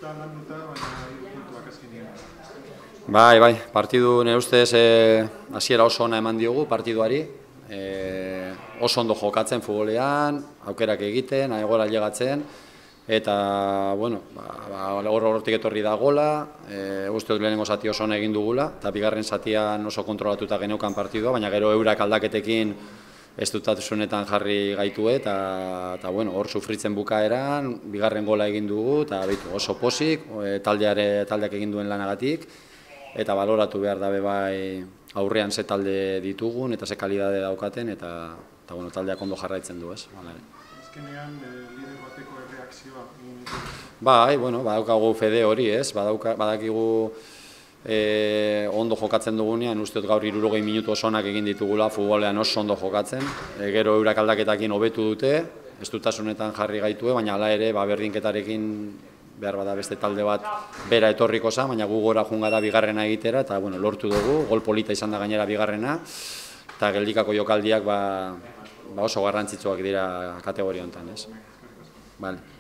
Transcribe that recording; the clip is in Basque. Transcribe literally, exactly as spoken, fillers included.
pixka landuta, baina hiru puntuak azkenean. Bai, bai, partidu nire ustez hasiera oso ona eman diogu partiduari. E, oso ondo jokatzen futbolean, aukerak egiten, aigora llegatzen, eta, bueno, ba, ba, hortik etorri da gola, e, uste dut lehenengo zati oso ona egin dugula, eta bigarren zatian oso kontrolatuta geneukan partidua, baina gero eurak aldaketekin ez dutasunetan jarri gaitu eta, eta bueno, hor sufritzen bukaeran, bigarren gola egin dugu, eta behitu, oso posik, e, taldeare, taldeak egin duen lanagatik, eta baloratu behar dabe bai aurrean ze talde ditugun eta ze kalidade daukaten, eta, eta bueno, taldeak ondo jarraitzen du, ez? Azkenean, lider bateko erreakzioa. Bai, bueno, badaukagu fede hori, ez? Badauka, badakigu e, ondo jokatzen dugunean, uste dut gaur hirurogei minutu oso onak egin ditugula, futbolean oso ondo jokatzen, e, gero eurak aldaketakin hobetu dute, ez dutasunetan jarri gaitue, baina hala ere, ba, berdinketarekin behar bada beste talde bat bera etorriko za, baina gu gora joan gara bigarrena egitera, eta bueno, lortu dugu, gol polita izan da gainera bigarrena, eta geldikako jokaldiak ba, ba oso garrantzitsuak dira kategoria honetan, ez? Vale.